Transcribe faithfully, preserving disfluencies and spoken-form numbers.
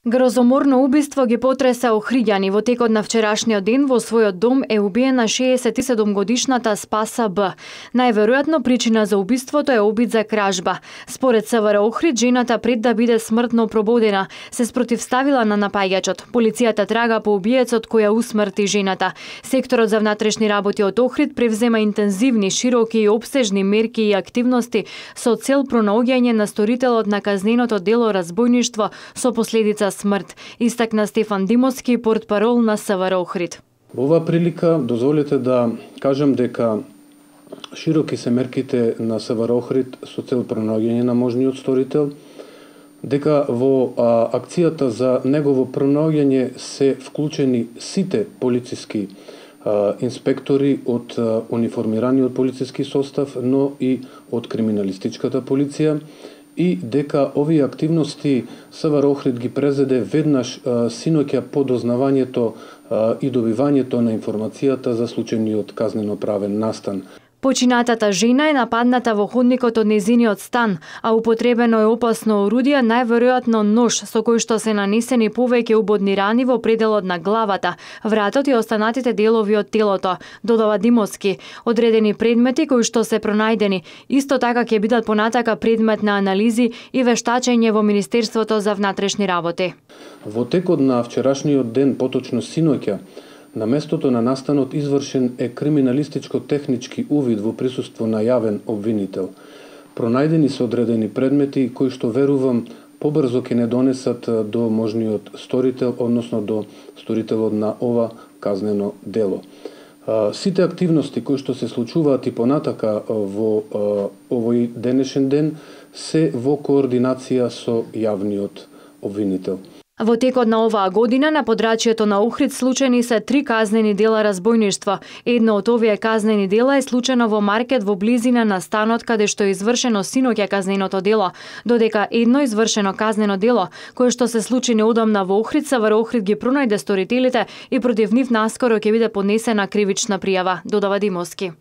Грозоморно убиство ги потреса Охриѓани. Во текот на вчерашниот ден во својот дом е убиена шеесет и седум годишната Спаса Б. Најверојатно причина за убиството е обид за кражба. Според СВР Охрид, жената пред да биде смртно прободена, се спротивставила на напаѓачот. Полицијата трага по убиецот кој ја усмрти жената. Секторот за внатрешни работи од Охрид превзема интензивни, широки и обсежни мерки и активности со цел пронаоѓање на сторителот на казненото дело разбојништво со последица смрт, истакна Стефан Димовски, портпарол на СВР Охрид. Во оваа прилика дозволете да кажам дека широки се мерките на СВР Охрид со цел пронаоѓање на можниот сторител, дека во а, акцијата за негово пронаоѓање се вклучени сите полициски а, инспектори од а, униформираниот полициски состав, но и од криминалистичката полиција, и дека овие активности СВР Охрид ги презеде веднаш а, синоќа по дознавањето а, и добивањето на информацијата за случајниот казнено-правен настан. Починатата жена е нападната во ходникот од нејзиниот стан, а употребено е опасно орудие, најверојатно нож, со кој што се нанесени повеќе убодни рани во пределот на главата, вратот и останатите делови од телото, додава Димовски. Одредени предмети кои што се пронајдени, исто така ќе бидат понатака предмет на анализи и вештачење во Министерството за внатрешни работи. Во текот на вчерашниот ден, поточно синоќа, на местото на настанот извршен е криминалистичко-технички увид во присуство на јавен обвинител. Пронајдени се одредени предмети кои што верувам побрзо ќе не донесат до можниот сторител, односно до сторителот на ова казнено дело. Сите активности кои што се случуваат и понатака во овој денешен ден се во координација со јавниот обвинител. Во текот на оваа година на подрачјето на Охрид случени се три казнени дела разбојништво. Едно од овие казнени дела е случено во маркет во близина на станот каде што е извршено синоќа казненото дело, додека едно извршено казнено дело кое што се случи неодамна во Охрид, СВР Охрид ги пронајде сторителите и против нив наскоро ќе биде поднесена кривична пријава, додава Димовски.